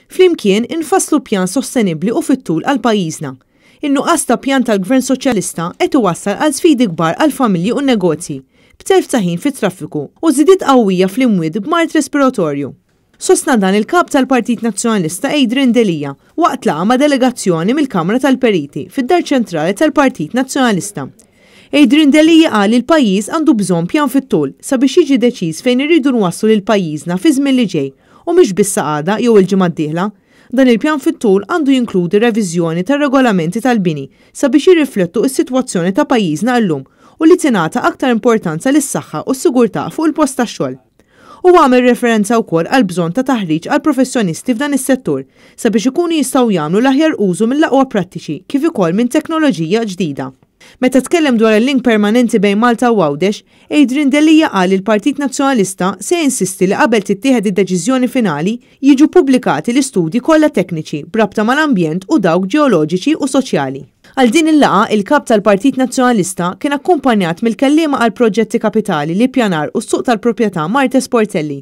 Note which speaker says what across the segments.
Speaker 1: Flimkien infasslu pjan sostenibbli u fit-tul għal pajjiżna. In-nuqqas ta' pjan tal-Gvern Soċjalista qed iwassal għal sfidi kbar għall-familji u n-negozji, b'telf ta' ħin fit-traffiku u żidiet qawwija fl-imwiet b'mard respiratorju. Sostna dan il-Kap tal-Partit Nazzjonalista Adrian Delia waqt laqgħa ma' delegazzjoni mill-Kamra tal-Periti fid-Dar Ċentrali tal-Partit Nazzjonalista. Adrian Delia qal li l-pajjiż għandu bżonn pjan fit-tul sabiex jiġi deċiż fejn irridu nwasslu lil pajjiżna fiż-żmien li ġej u mhux biss sa għada jew il-ġimgħa d-dieħla. Dan il-pjan fit-tul għandu jinkludi reviżjoni tar-regolamenti tal-bini sabiex jirriflettu s-sitwazzjoni ta' pajjiżna illum u li tingħata aktar importanza lis-saħħa u s-sigurtà fuq il-post tax-xogħol. Huwa għamel referenza wkoll għall-bżonn ta' taħriġ għall-professjonisti f'dan is-settur sabiex ikunu jistgħu jagħmlu l-aħjar użu mill-aqwa prattiċi kif ukoll minn teknoloġija ġdida. Meta tkellem dwar il-link permanenti bejn Malta u Għawdex, Adrian Delia qal li l-Partit Nazzjonalista se jinsisti li qabel tittieħed id-deċiżjoni finali jiġu ppubblikati l-istudji kollha tekniċi b'rabta mal-ambjent u dawk ġeoloġiċi u soċjali. Għal din il-laqgħa, il-Kap tal-Partit Nazzjonalista kien akkumpanjat mill-Kelliema għall-Proġetti Kapitali, l-Ippjanar u s-Suq tal-Proprjetà Marthese Portelli,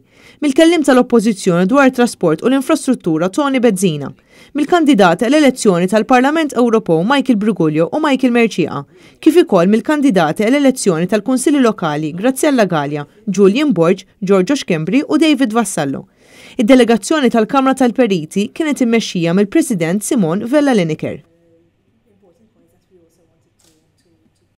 Speaker 1: mill-Kelliem tal-Oppożizzjoni dwar it-Trasport u l-Infrastruttura Toni Bezzina, mill-kandidati għall-elezzjoni tal-Parlament Ewropew Michael Briguglio u Michael Mercieca, kif ukoll mill-kandidati għall-elezzjoni tal-Kunsilli Lokali Graziella Galea, Julian Borg, Giorgio Schembri u David Vassallo. Id-delegazzjoni tal-Kamra tal-Periti kienet immexxija mill-President Simone Vella Lenicker.